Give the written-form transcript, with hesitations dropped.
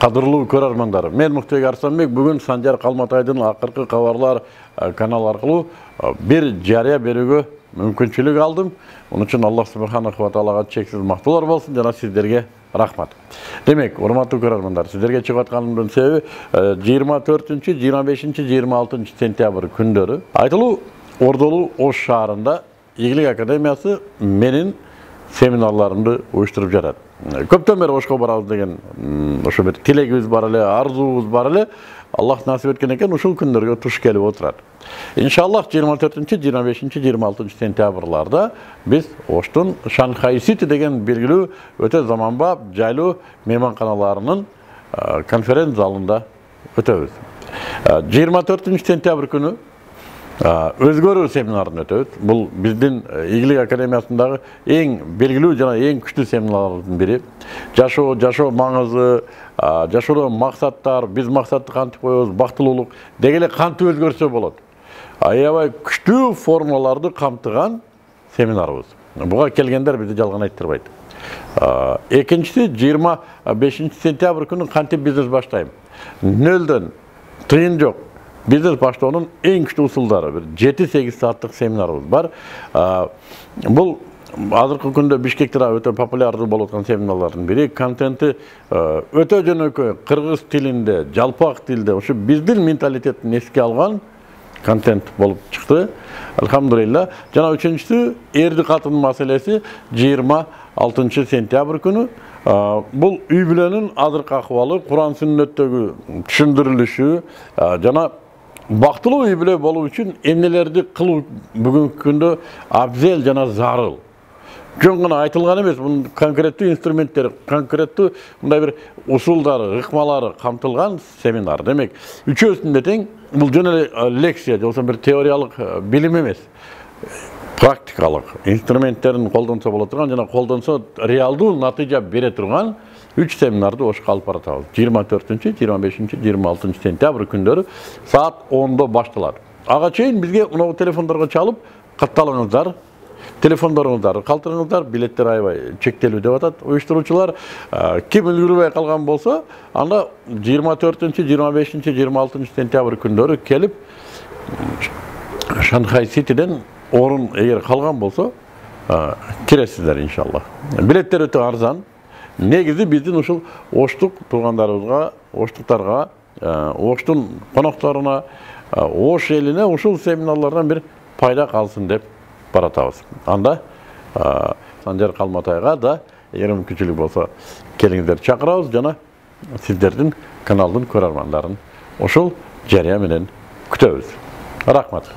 Кадырлуу көрөрмандар, мен Муктубек Арсланбек бүгүн Санжар Калматайдын акыркы кабарлар каналы аркылуу бир жарыя берүүгө мүмкүнчүлүк алдым. Onun үчүн Аллах субханаху ва таалага чексиз мактоолор болсун жана сиздерге рахмат. Демек, урматтуу көрөрмандар, сиздерге чыгып атканымдын себеби 24, 25, 26 сентябрь күндөрү Айтылуу Ордолуу Ош шаарында Ийгилик академиясы менин семинарларымды уюштуруп жатат. Көптөн бери Ошко барабыз деген ошо бир тилегибиз бар эле, арзуубуз бар эле. Аллах насип эткен экен, ушул күндөргө туш келип отурат. Иншаллах 24, 25, 26 сентябрларда биз Оштун Шанхай Сити деген белгилүү өтө заманбап, жайлуу мейманканаларынын конференц залында өтөбүз. 24 сентябрь күнү өзгөрүү семинарын өтөбүз. Бул биздин Ийгилик академиясындагы эң белгилүү жана эң күчтүү семинарлардын бири. Жашоо маңызы, жашоодо максаттар, биз максатты кантип коебуз, бактылуулук деги эле кантип өзгөрсө болот. Аябай күчтүү формулаларды камтыган семинарыбыз. Буга келгендер бизди жалган айттырбайт. Экинчиси 25 сентябрь күнү кантип бизнес баштайм. Нөлдөн тыйын жок. Бизнес баштоонун эң күчтүү усулдары, бир 7-8 сааттык семинарыбыз бар. Бул азыркы күндө Бишкекте өтө популярдуу болуп аткан семинарлардын бири. Контенти өтө жөнөкөй, кыргыз тилинде, жалпак тилде, ошо биздин менталитеттин эске алган контент болуп чыкты. Алхамдулилла. Жана үчүнчүсү эрди катын маселеси 26 сентябрь күнү. Бул үй бүлөнүн азыркы акыбалы, Куран сүннөттөгү түшүндүрүлүшү жана бактылуу үй бүлө болуу үчүн эмнелерди кылуу бүгүнкү күндө абзел жана зарыл. Жөн гана айтылган эмес, бунун конкреттүү инструменттери, конкреттүү мындай бир усулдары, ыкмалары камтылган семинар. Демек, үчөөсүндө тең бул жөн эле лекция, же болбосо бир теориялык билим эмес. Практикалык инструменттерин колдонсо боло турган жана колдонсо реалдуу натыйжа бере турган 3 семинарды Ошко алып баратабыз. 24, 25, 26 сентябрь күндөрү саат 10-до башталат. Ага чейин бизге мына телефондорго чалып катталыңыздар. Телефондоруңуздарды калтырыңыздар, билеттер аябай чектелүү деп атат уюштуруучулар. Ким үлгүрбөй калган болсо, анда 24, 25, 26 сентябрь күндөрү келип Шанхай Ситиден орун эгер калган болсо, киресиздер иншаллах. Билеттер өтө арзан. Негизи биздин ушул Оштук туугандарыбызга, Оштуктарга, Оштун конокторуна, Ош элине ушул семинарлардан бир пайда калсын деп баратабыз. Анда Санжар Калматайга да эгер мүмкүнчүлүк болсо келиңиздер чакырабыз жана сиздердин каналдын көрөрмандарын ушул жарыя менен күтөбүз. Рахмат.